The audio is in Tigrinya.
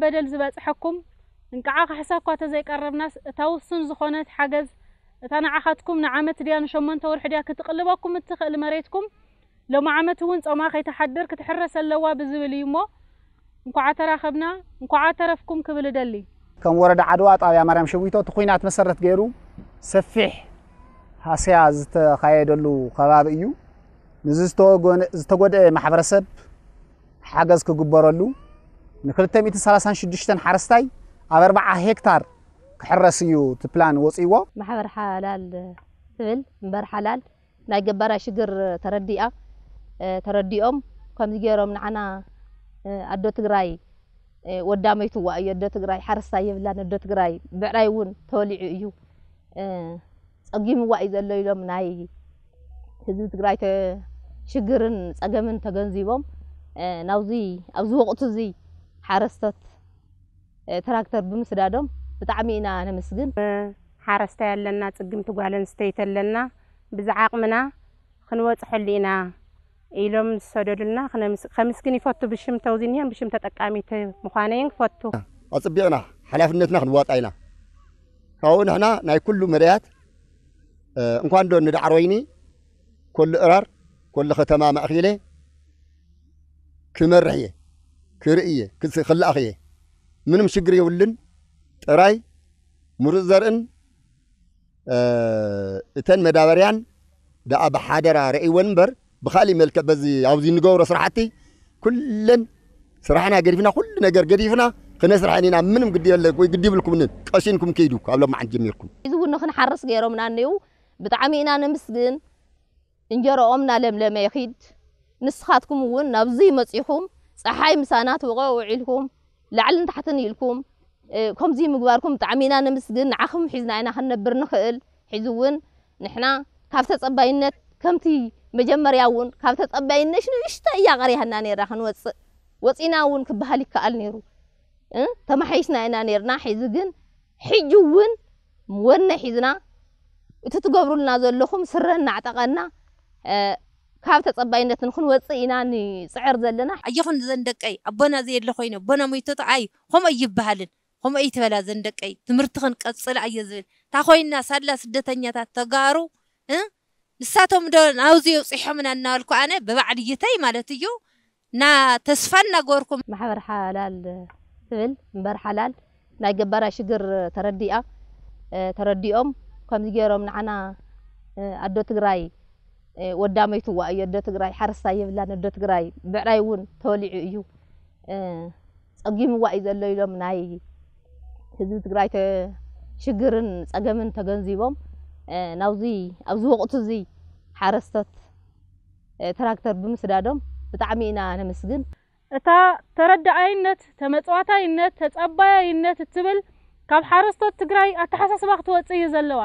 በደል ዝበጽሐኩም፣ እንቅዓ ካሕሳ እኳ ተዘይቀረብናስ፣ እታ ውሱን ዝኾነት ሓገዝ፣ እታ ንዓኻትኩም ንዓመት ድያ ንሸሞንተ ወርሒ ድያ ክትቕልበኩም እትኽእል መሬትኩም፣ ሎሚ ዓመት እውን ጾማ ከይትሓድር ክትሕረስ ኣለዋ ብዝብል እዩ እሞ፣ እንኳዓ ተራኸብና፣ እንኳዓ ተረፍኩም ክብል እደሊ። ከም ወረዳ ዓድዋ ጣብያ ማርያም ሸዊቶ እቲ ኲናት መሰረት ገይሩ ሰፊሕ ሃስያ ዝተኻየደሉ ከባቢ እዩ። ንዚ ዝተወገነ-፣ ዝተጎድአ ማሕበረሰብ ሓገዝ ክግበረሉ፣ ን236 ሓረስታይ ኣብ ኣርብዓ ሄክታር ክሕረስ እዩ እቲ ፕላን ወፂዎ። ማሕበር ሓላል ትብል እምበር ሓላል ናይ ገባራይ ሽግር ተረዲኣ፣ እ፣ ተረዲኦም ከምዚ ገይሮም ንዓና፣ እ፣ ኣዶ ትግራይ፣ እ፣ ወዳ መይትዋ እዩ፣ ኣዶ ትግራይ ሓረስታይ የብላን፣ ኣዶ ትግራይ ብዕራይ እውን ተወሊዑ እዩ፣ እ፣ ጸጊምዋ እዩ ዘሎ ኢሎም ናይ ህዝቢ ትግራይ ተ-፣ ሽግርን ጸገምን ተገንዚቦም፣ እ፣ ናብዚ፣ ኣብዚ ወቕቲ እዚ ሓረስቶት፣ እ፣ ትራክተር ብምስዳዶም ብጣዕሚ ኢና ነመስግን። ሓረስታይ ኣለና፣ ጽግምቲ ጓል ኣንስተይቲ ኣለና፣ ብዝዓቕምና ክንበጽሐሉ ኢና ኢሎም ዝሰደዱልና ክነምስ-፣ ከምስግን ይፈቱ። ብሽም ተውዚንየን ብሽም ተጠቃሚት ምዃነይን ክፈቱ። ኣጽቢቕና ሓላፍነትና ክንዋጣ ኢና። ካብኡ ንሕና ናይ ኩሉ መዳያት፣ እ፣ እንኳን ዶ ንዳዕሮ ወይኒ፣ ኮሉ እራር፣ ኮሉ ከተማ ማእኺለ ክመርሕ እየ፣ ክርኢ እየ፣ ክስ-፣ ክልኣኽ እየ። ምንም ሽግር የብሉን። ጥራይ ምሩፅ ዘርእን፣ እ፣ እተን መዳበርያን ደኣ ብሓደራ ረእይወን እምበር፣ ብኻሊእ መልክዕ በዚ ኣብዚ እንገብሮ ስራሕቲ ኩለን ስራሕና ገዲፍና፣ ኩሉ ነገር ገዲፍና ክነስርሐን ኢና። ምንም ግዲ የለ ወይ ግዲ ይብልኩምን፣ ቀሲንኩም ከይዱ ካብ ሎማዓንቲ ጀሚርኩም። እዚ እውን ንኽንሓርስ ገይሮምና እኔው ብጣዕሚ ኢና ነምስግን። እንጀሮኦም እናለምለመ ይኺድ። ንስኻትኩም እውን ናብዚ መጺኹም፣ ጸሓይ ምሳና ትወቐ ውዒልኩም፣ ላዕልን ታሕትን ኢልኩም፣ እ፣ ከምዚ ምግባርኩም ብጣዕሚ ኢና ነምስግን። ንዓኹም ሒዝና ኢና ክንነብር ንኽእል። ሕዚ እውን ንሕና ካብ ተጸባይነት፣ ከምቲ መጀመርያ እውን ካብ ተጸባይነት ንእሽቶ እያ ቀሪሃና ነይራ ክንወጽእ። ወጺና እውን ክበሃል ይከኣል ነይሩ። እ፣ ተማሓይሽና ኢና ነይርና። ሕዚ ግን፣ ሕጂ እውን ወነ ሒዝና፣ እቲ ትገብሩልና ዘለኹም ስረ እናዕጠቐና፣ እ፣ ካብ ተጸባይነት ንክንወጽእ ኢና ንጽዕር ዘለና። ኣየኹን ዘን ደቀይ፣ ኣቦና ዘየለ ኮይኑ፣ ኣቦና ሞይቱ ተኣይ፣ ከምኡ ኣይበሃልን። ከምኡ ኣይትበላ ዘን ደቀይ፣ ትምህርቲ ክንቀጽል ኣየ ዝብል። እታ ኮይና ሳላ ስደተኛታት ተጋሩ፣ እ? ንሳቶም ዶ ናብዚ የውጽሖምና እናበልኩ ኣነ ብባዕልይተይ ማለት እዩ፣ እና ተስፋ እናገበርኩም። ማሕበር ሓላል ትብል እምበር ሓላል ናይ ገባራይ ሽግር ተረዲኣ፣ እ፣ ተረዲኦም ከምዚ ገይሮም ንዓና፣ እ፣ ኣዶ ትግራይ፣ እ፣ ወዳ መይትዋ እዩ፣ ኣዶ ትግራይ ሓረስታይ የብላን፣ ኣዶ ትግራይ ብዕራይ እውን ተወሊዑ እዩ፣ እ፣ ጸጊምዋ እዩ ዘሎ ኢሎም ናይ ህዝቢ ትግራይ ተ-፣ ሽግርን ጸገምን ተገንዚቦም፣ እ፣ ናብዚ፣ ኣብዚ ወቕቲ እዚ ሓረስቶት፣ እ፣ ትራክተር ብምስዳዶም ብጣዕሚ ኢና ነመስግን። እታ ተረዳኣይነት፣ ተመጽዋታይነት፣ ተጸባያይነት እትብል ካብ ሓረስቶት ትግራይ ኣተሓሳስባ ክትወጽእ እዩ ዘለዋ።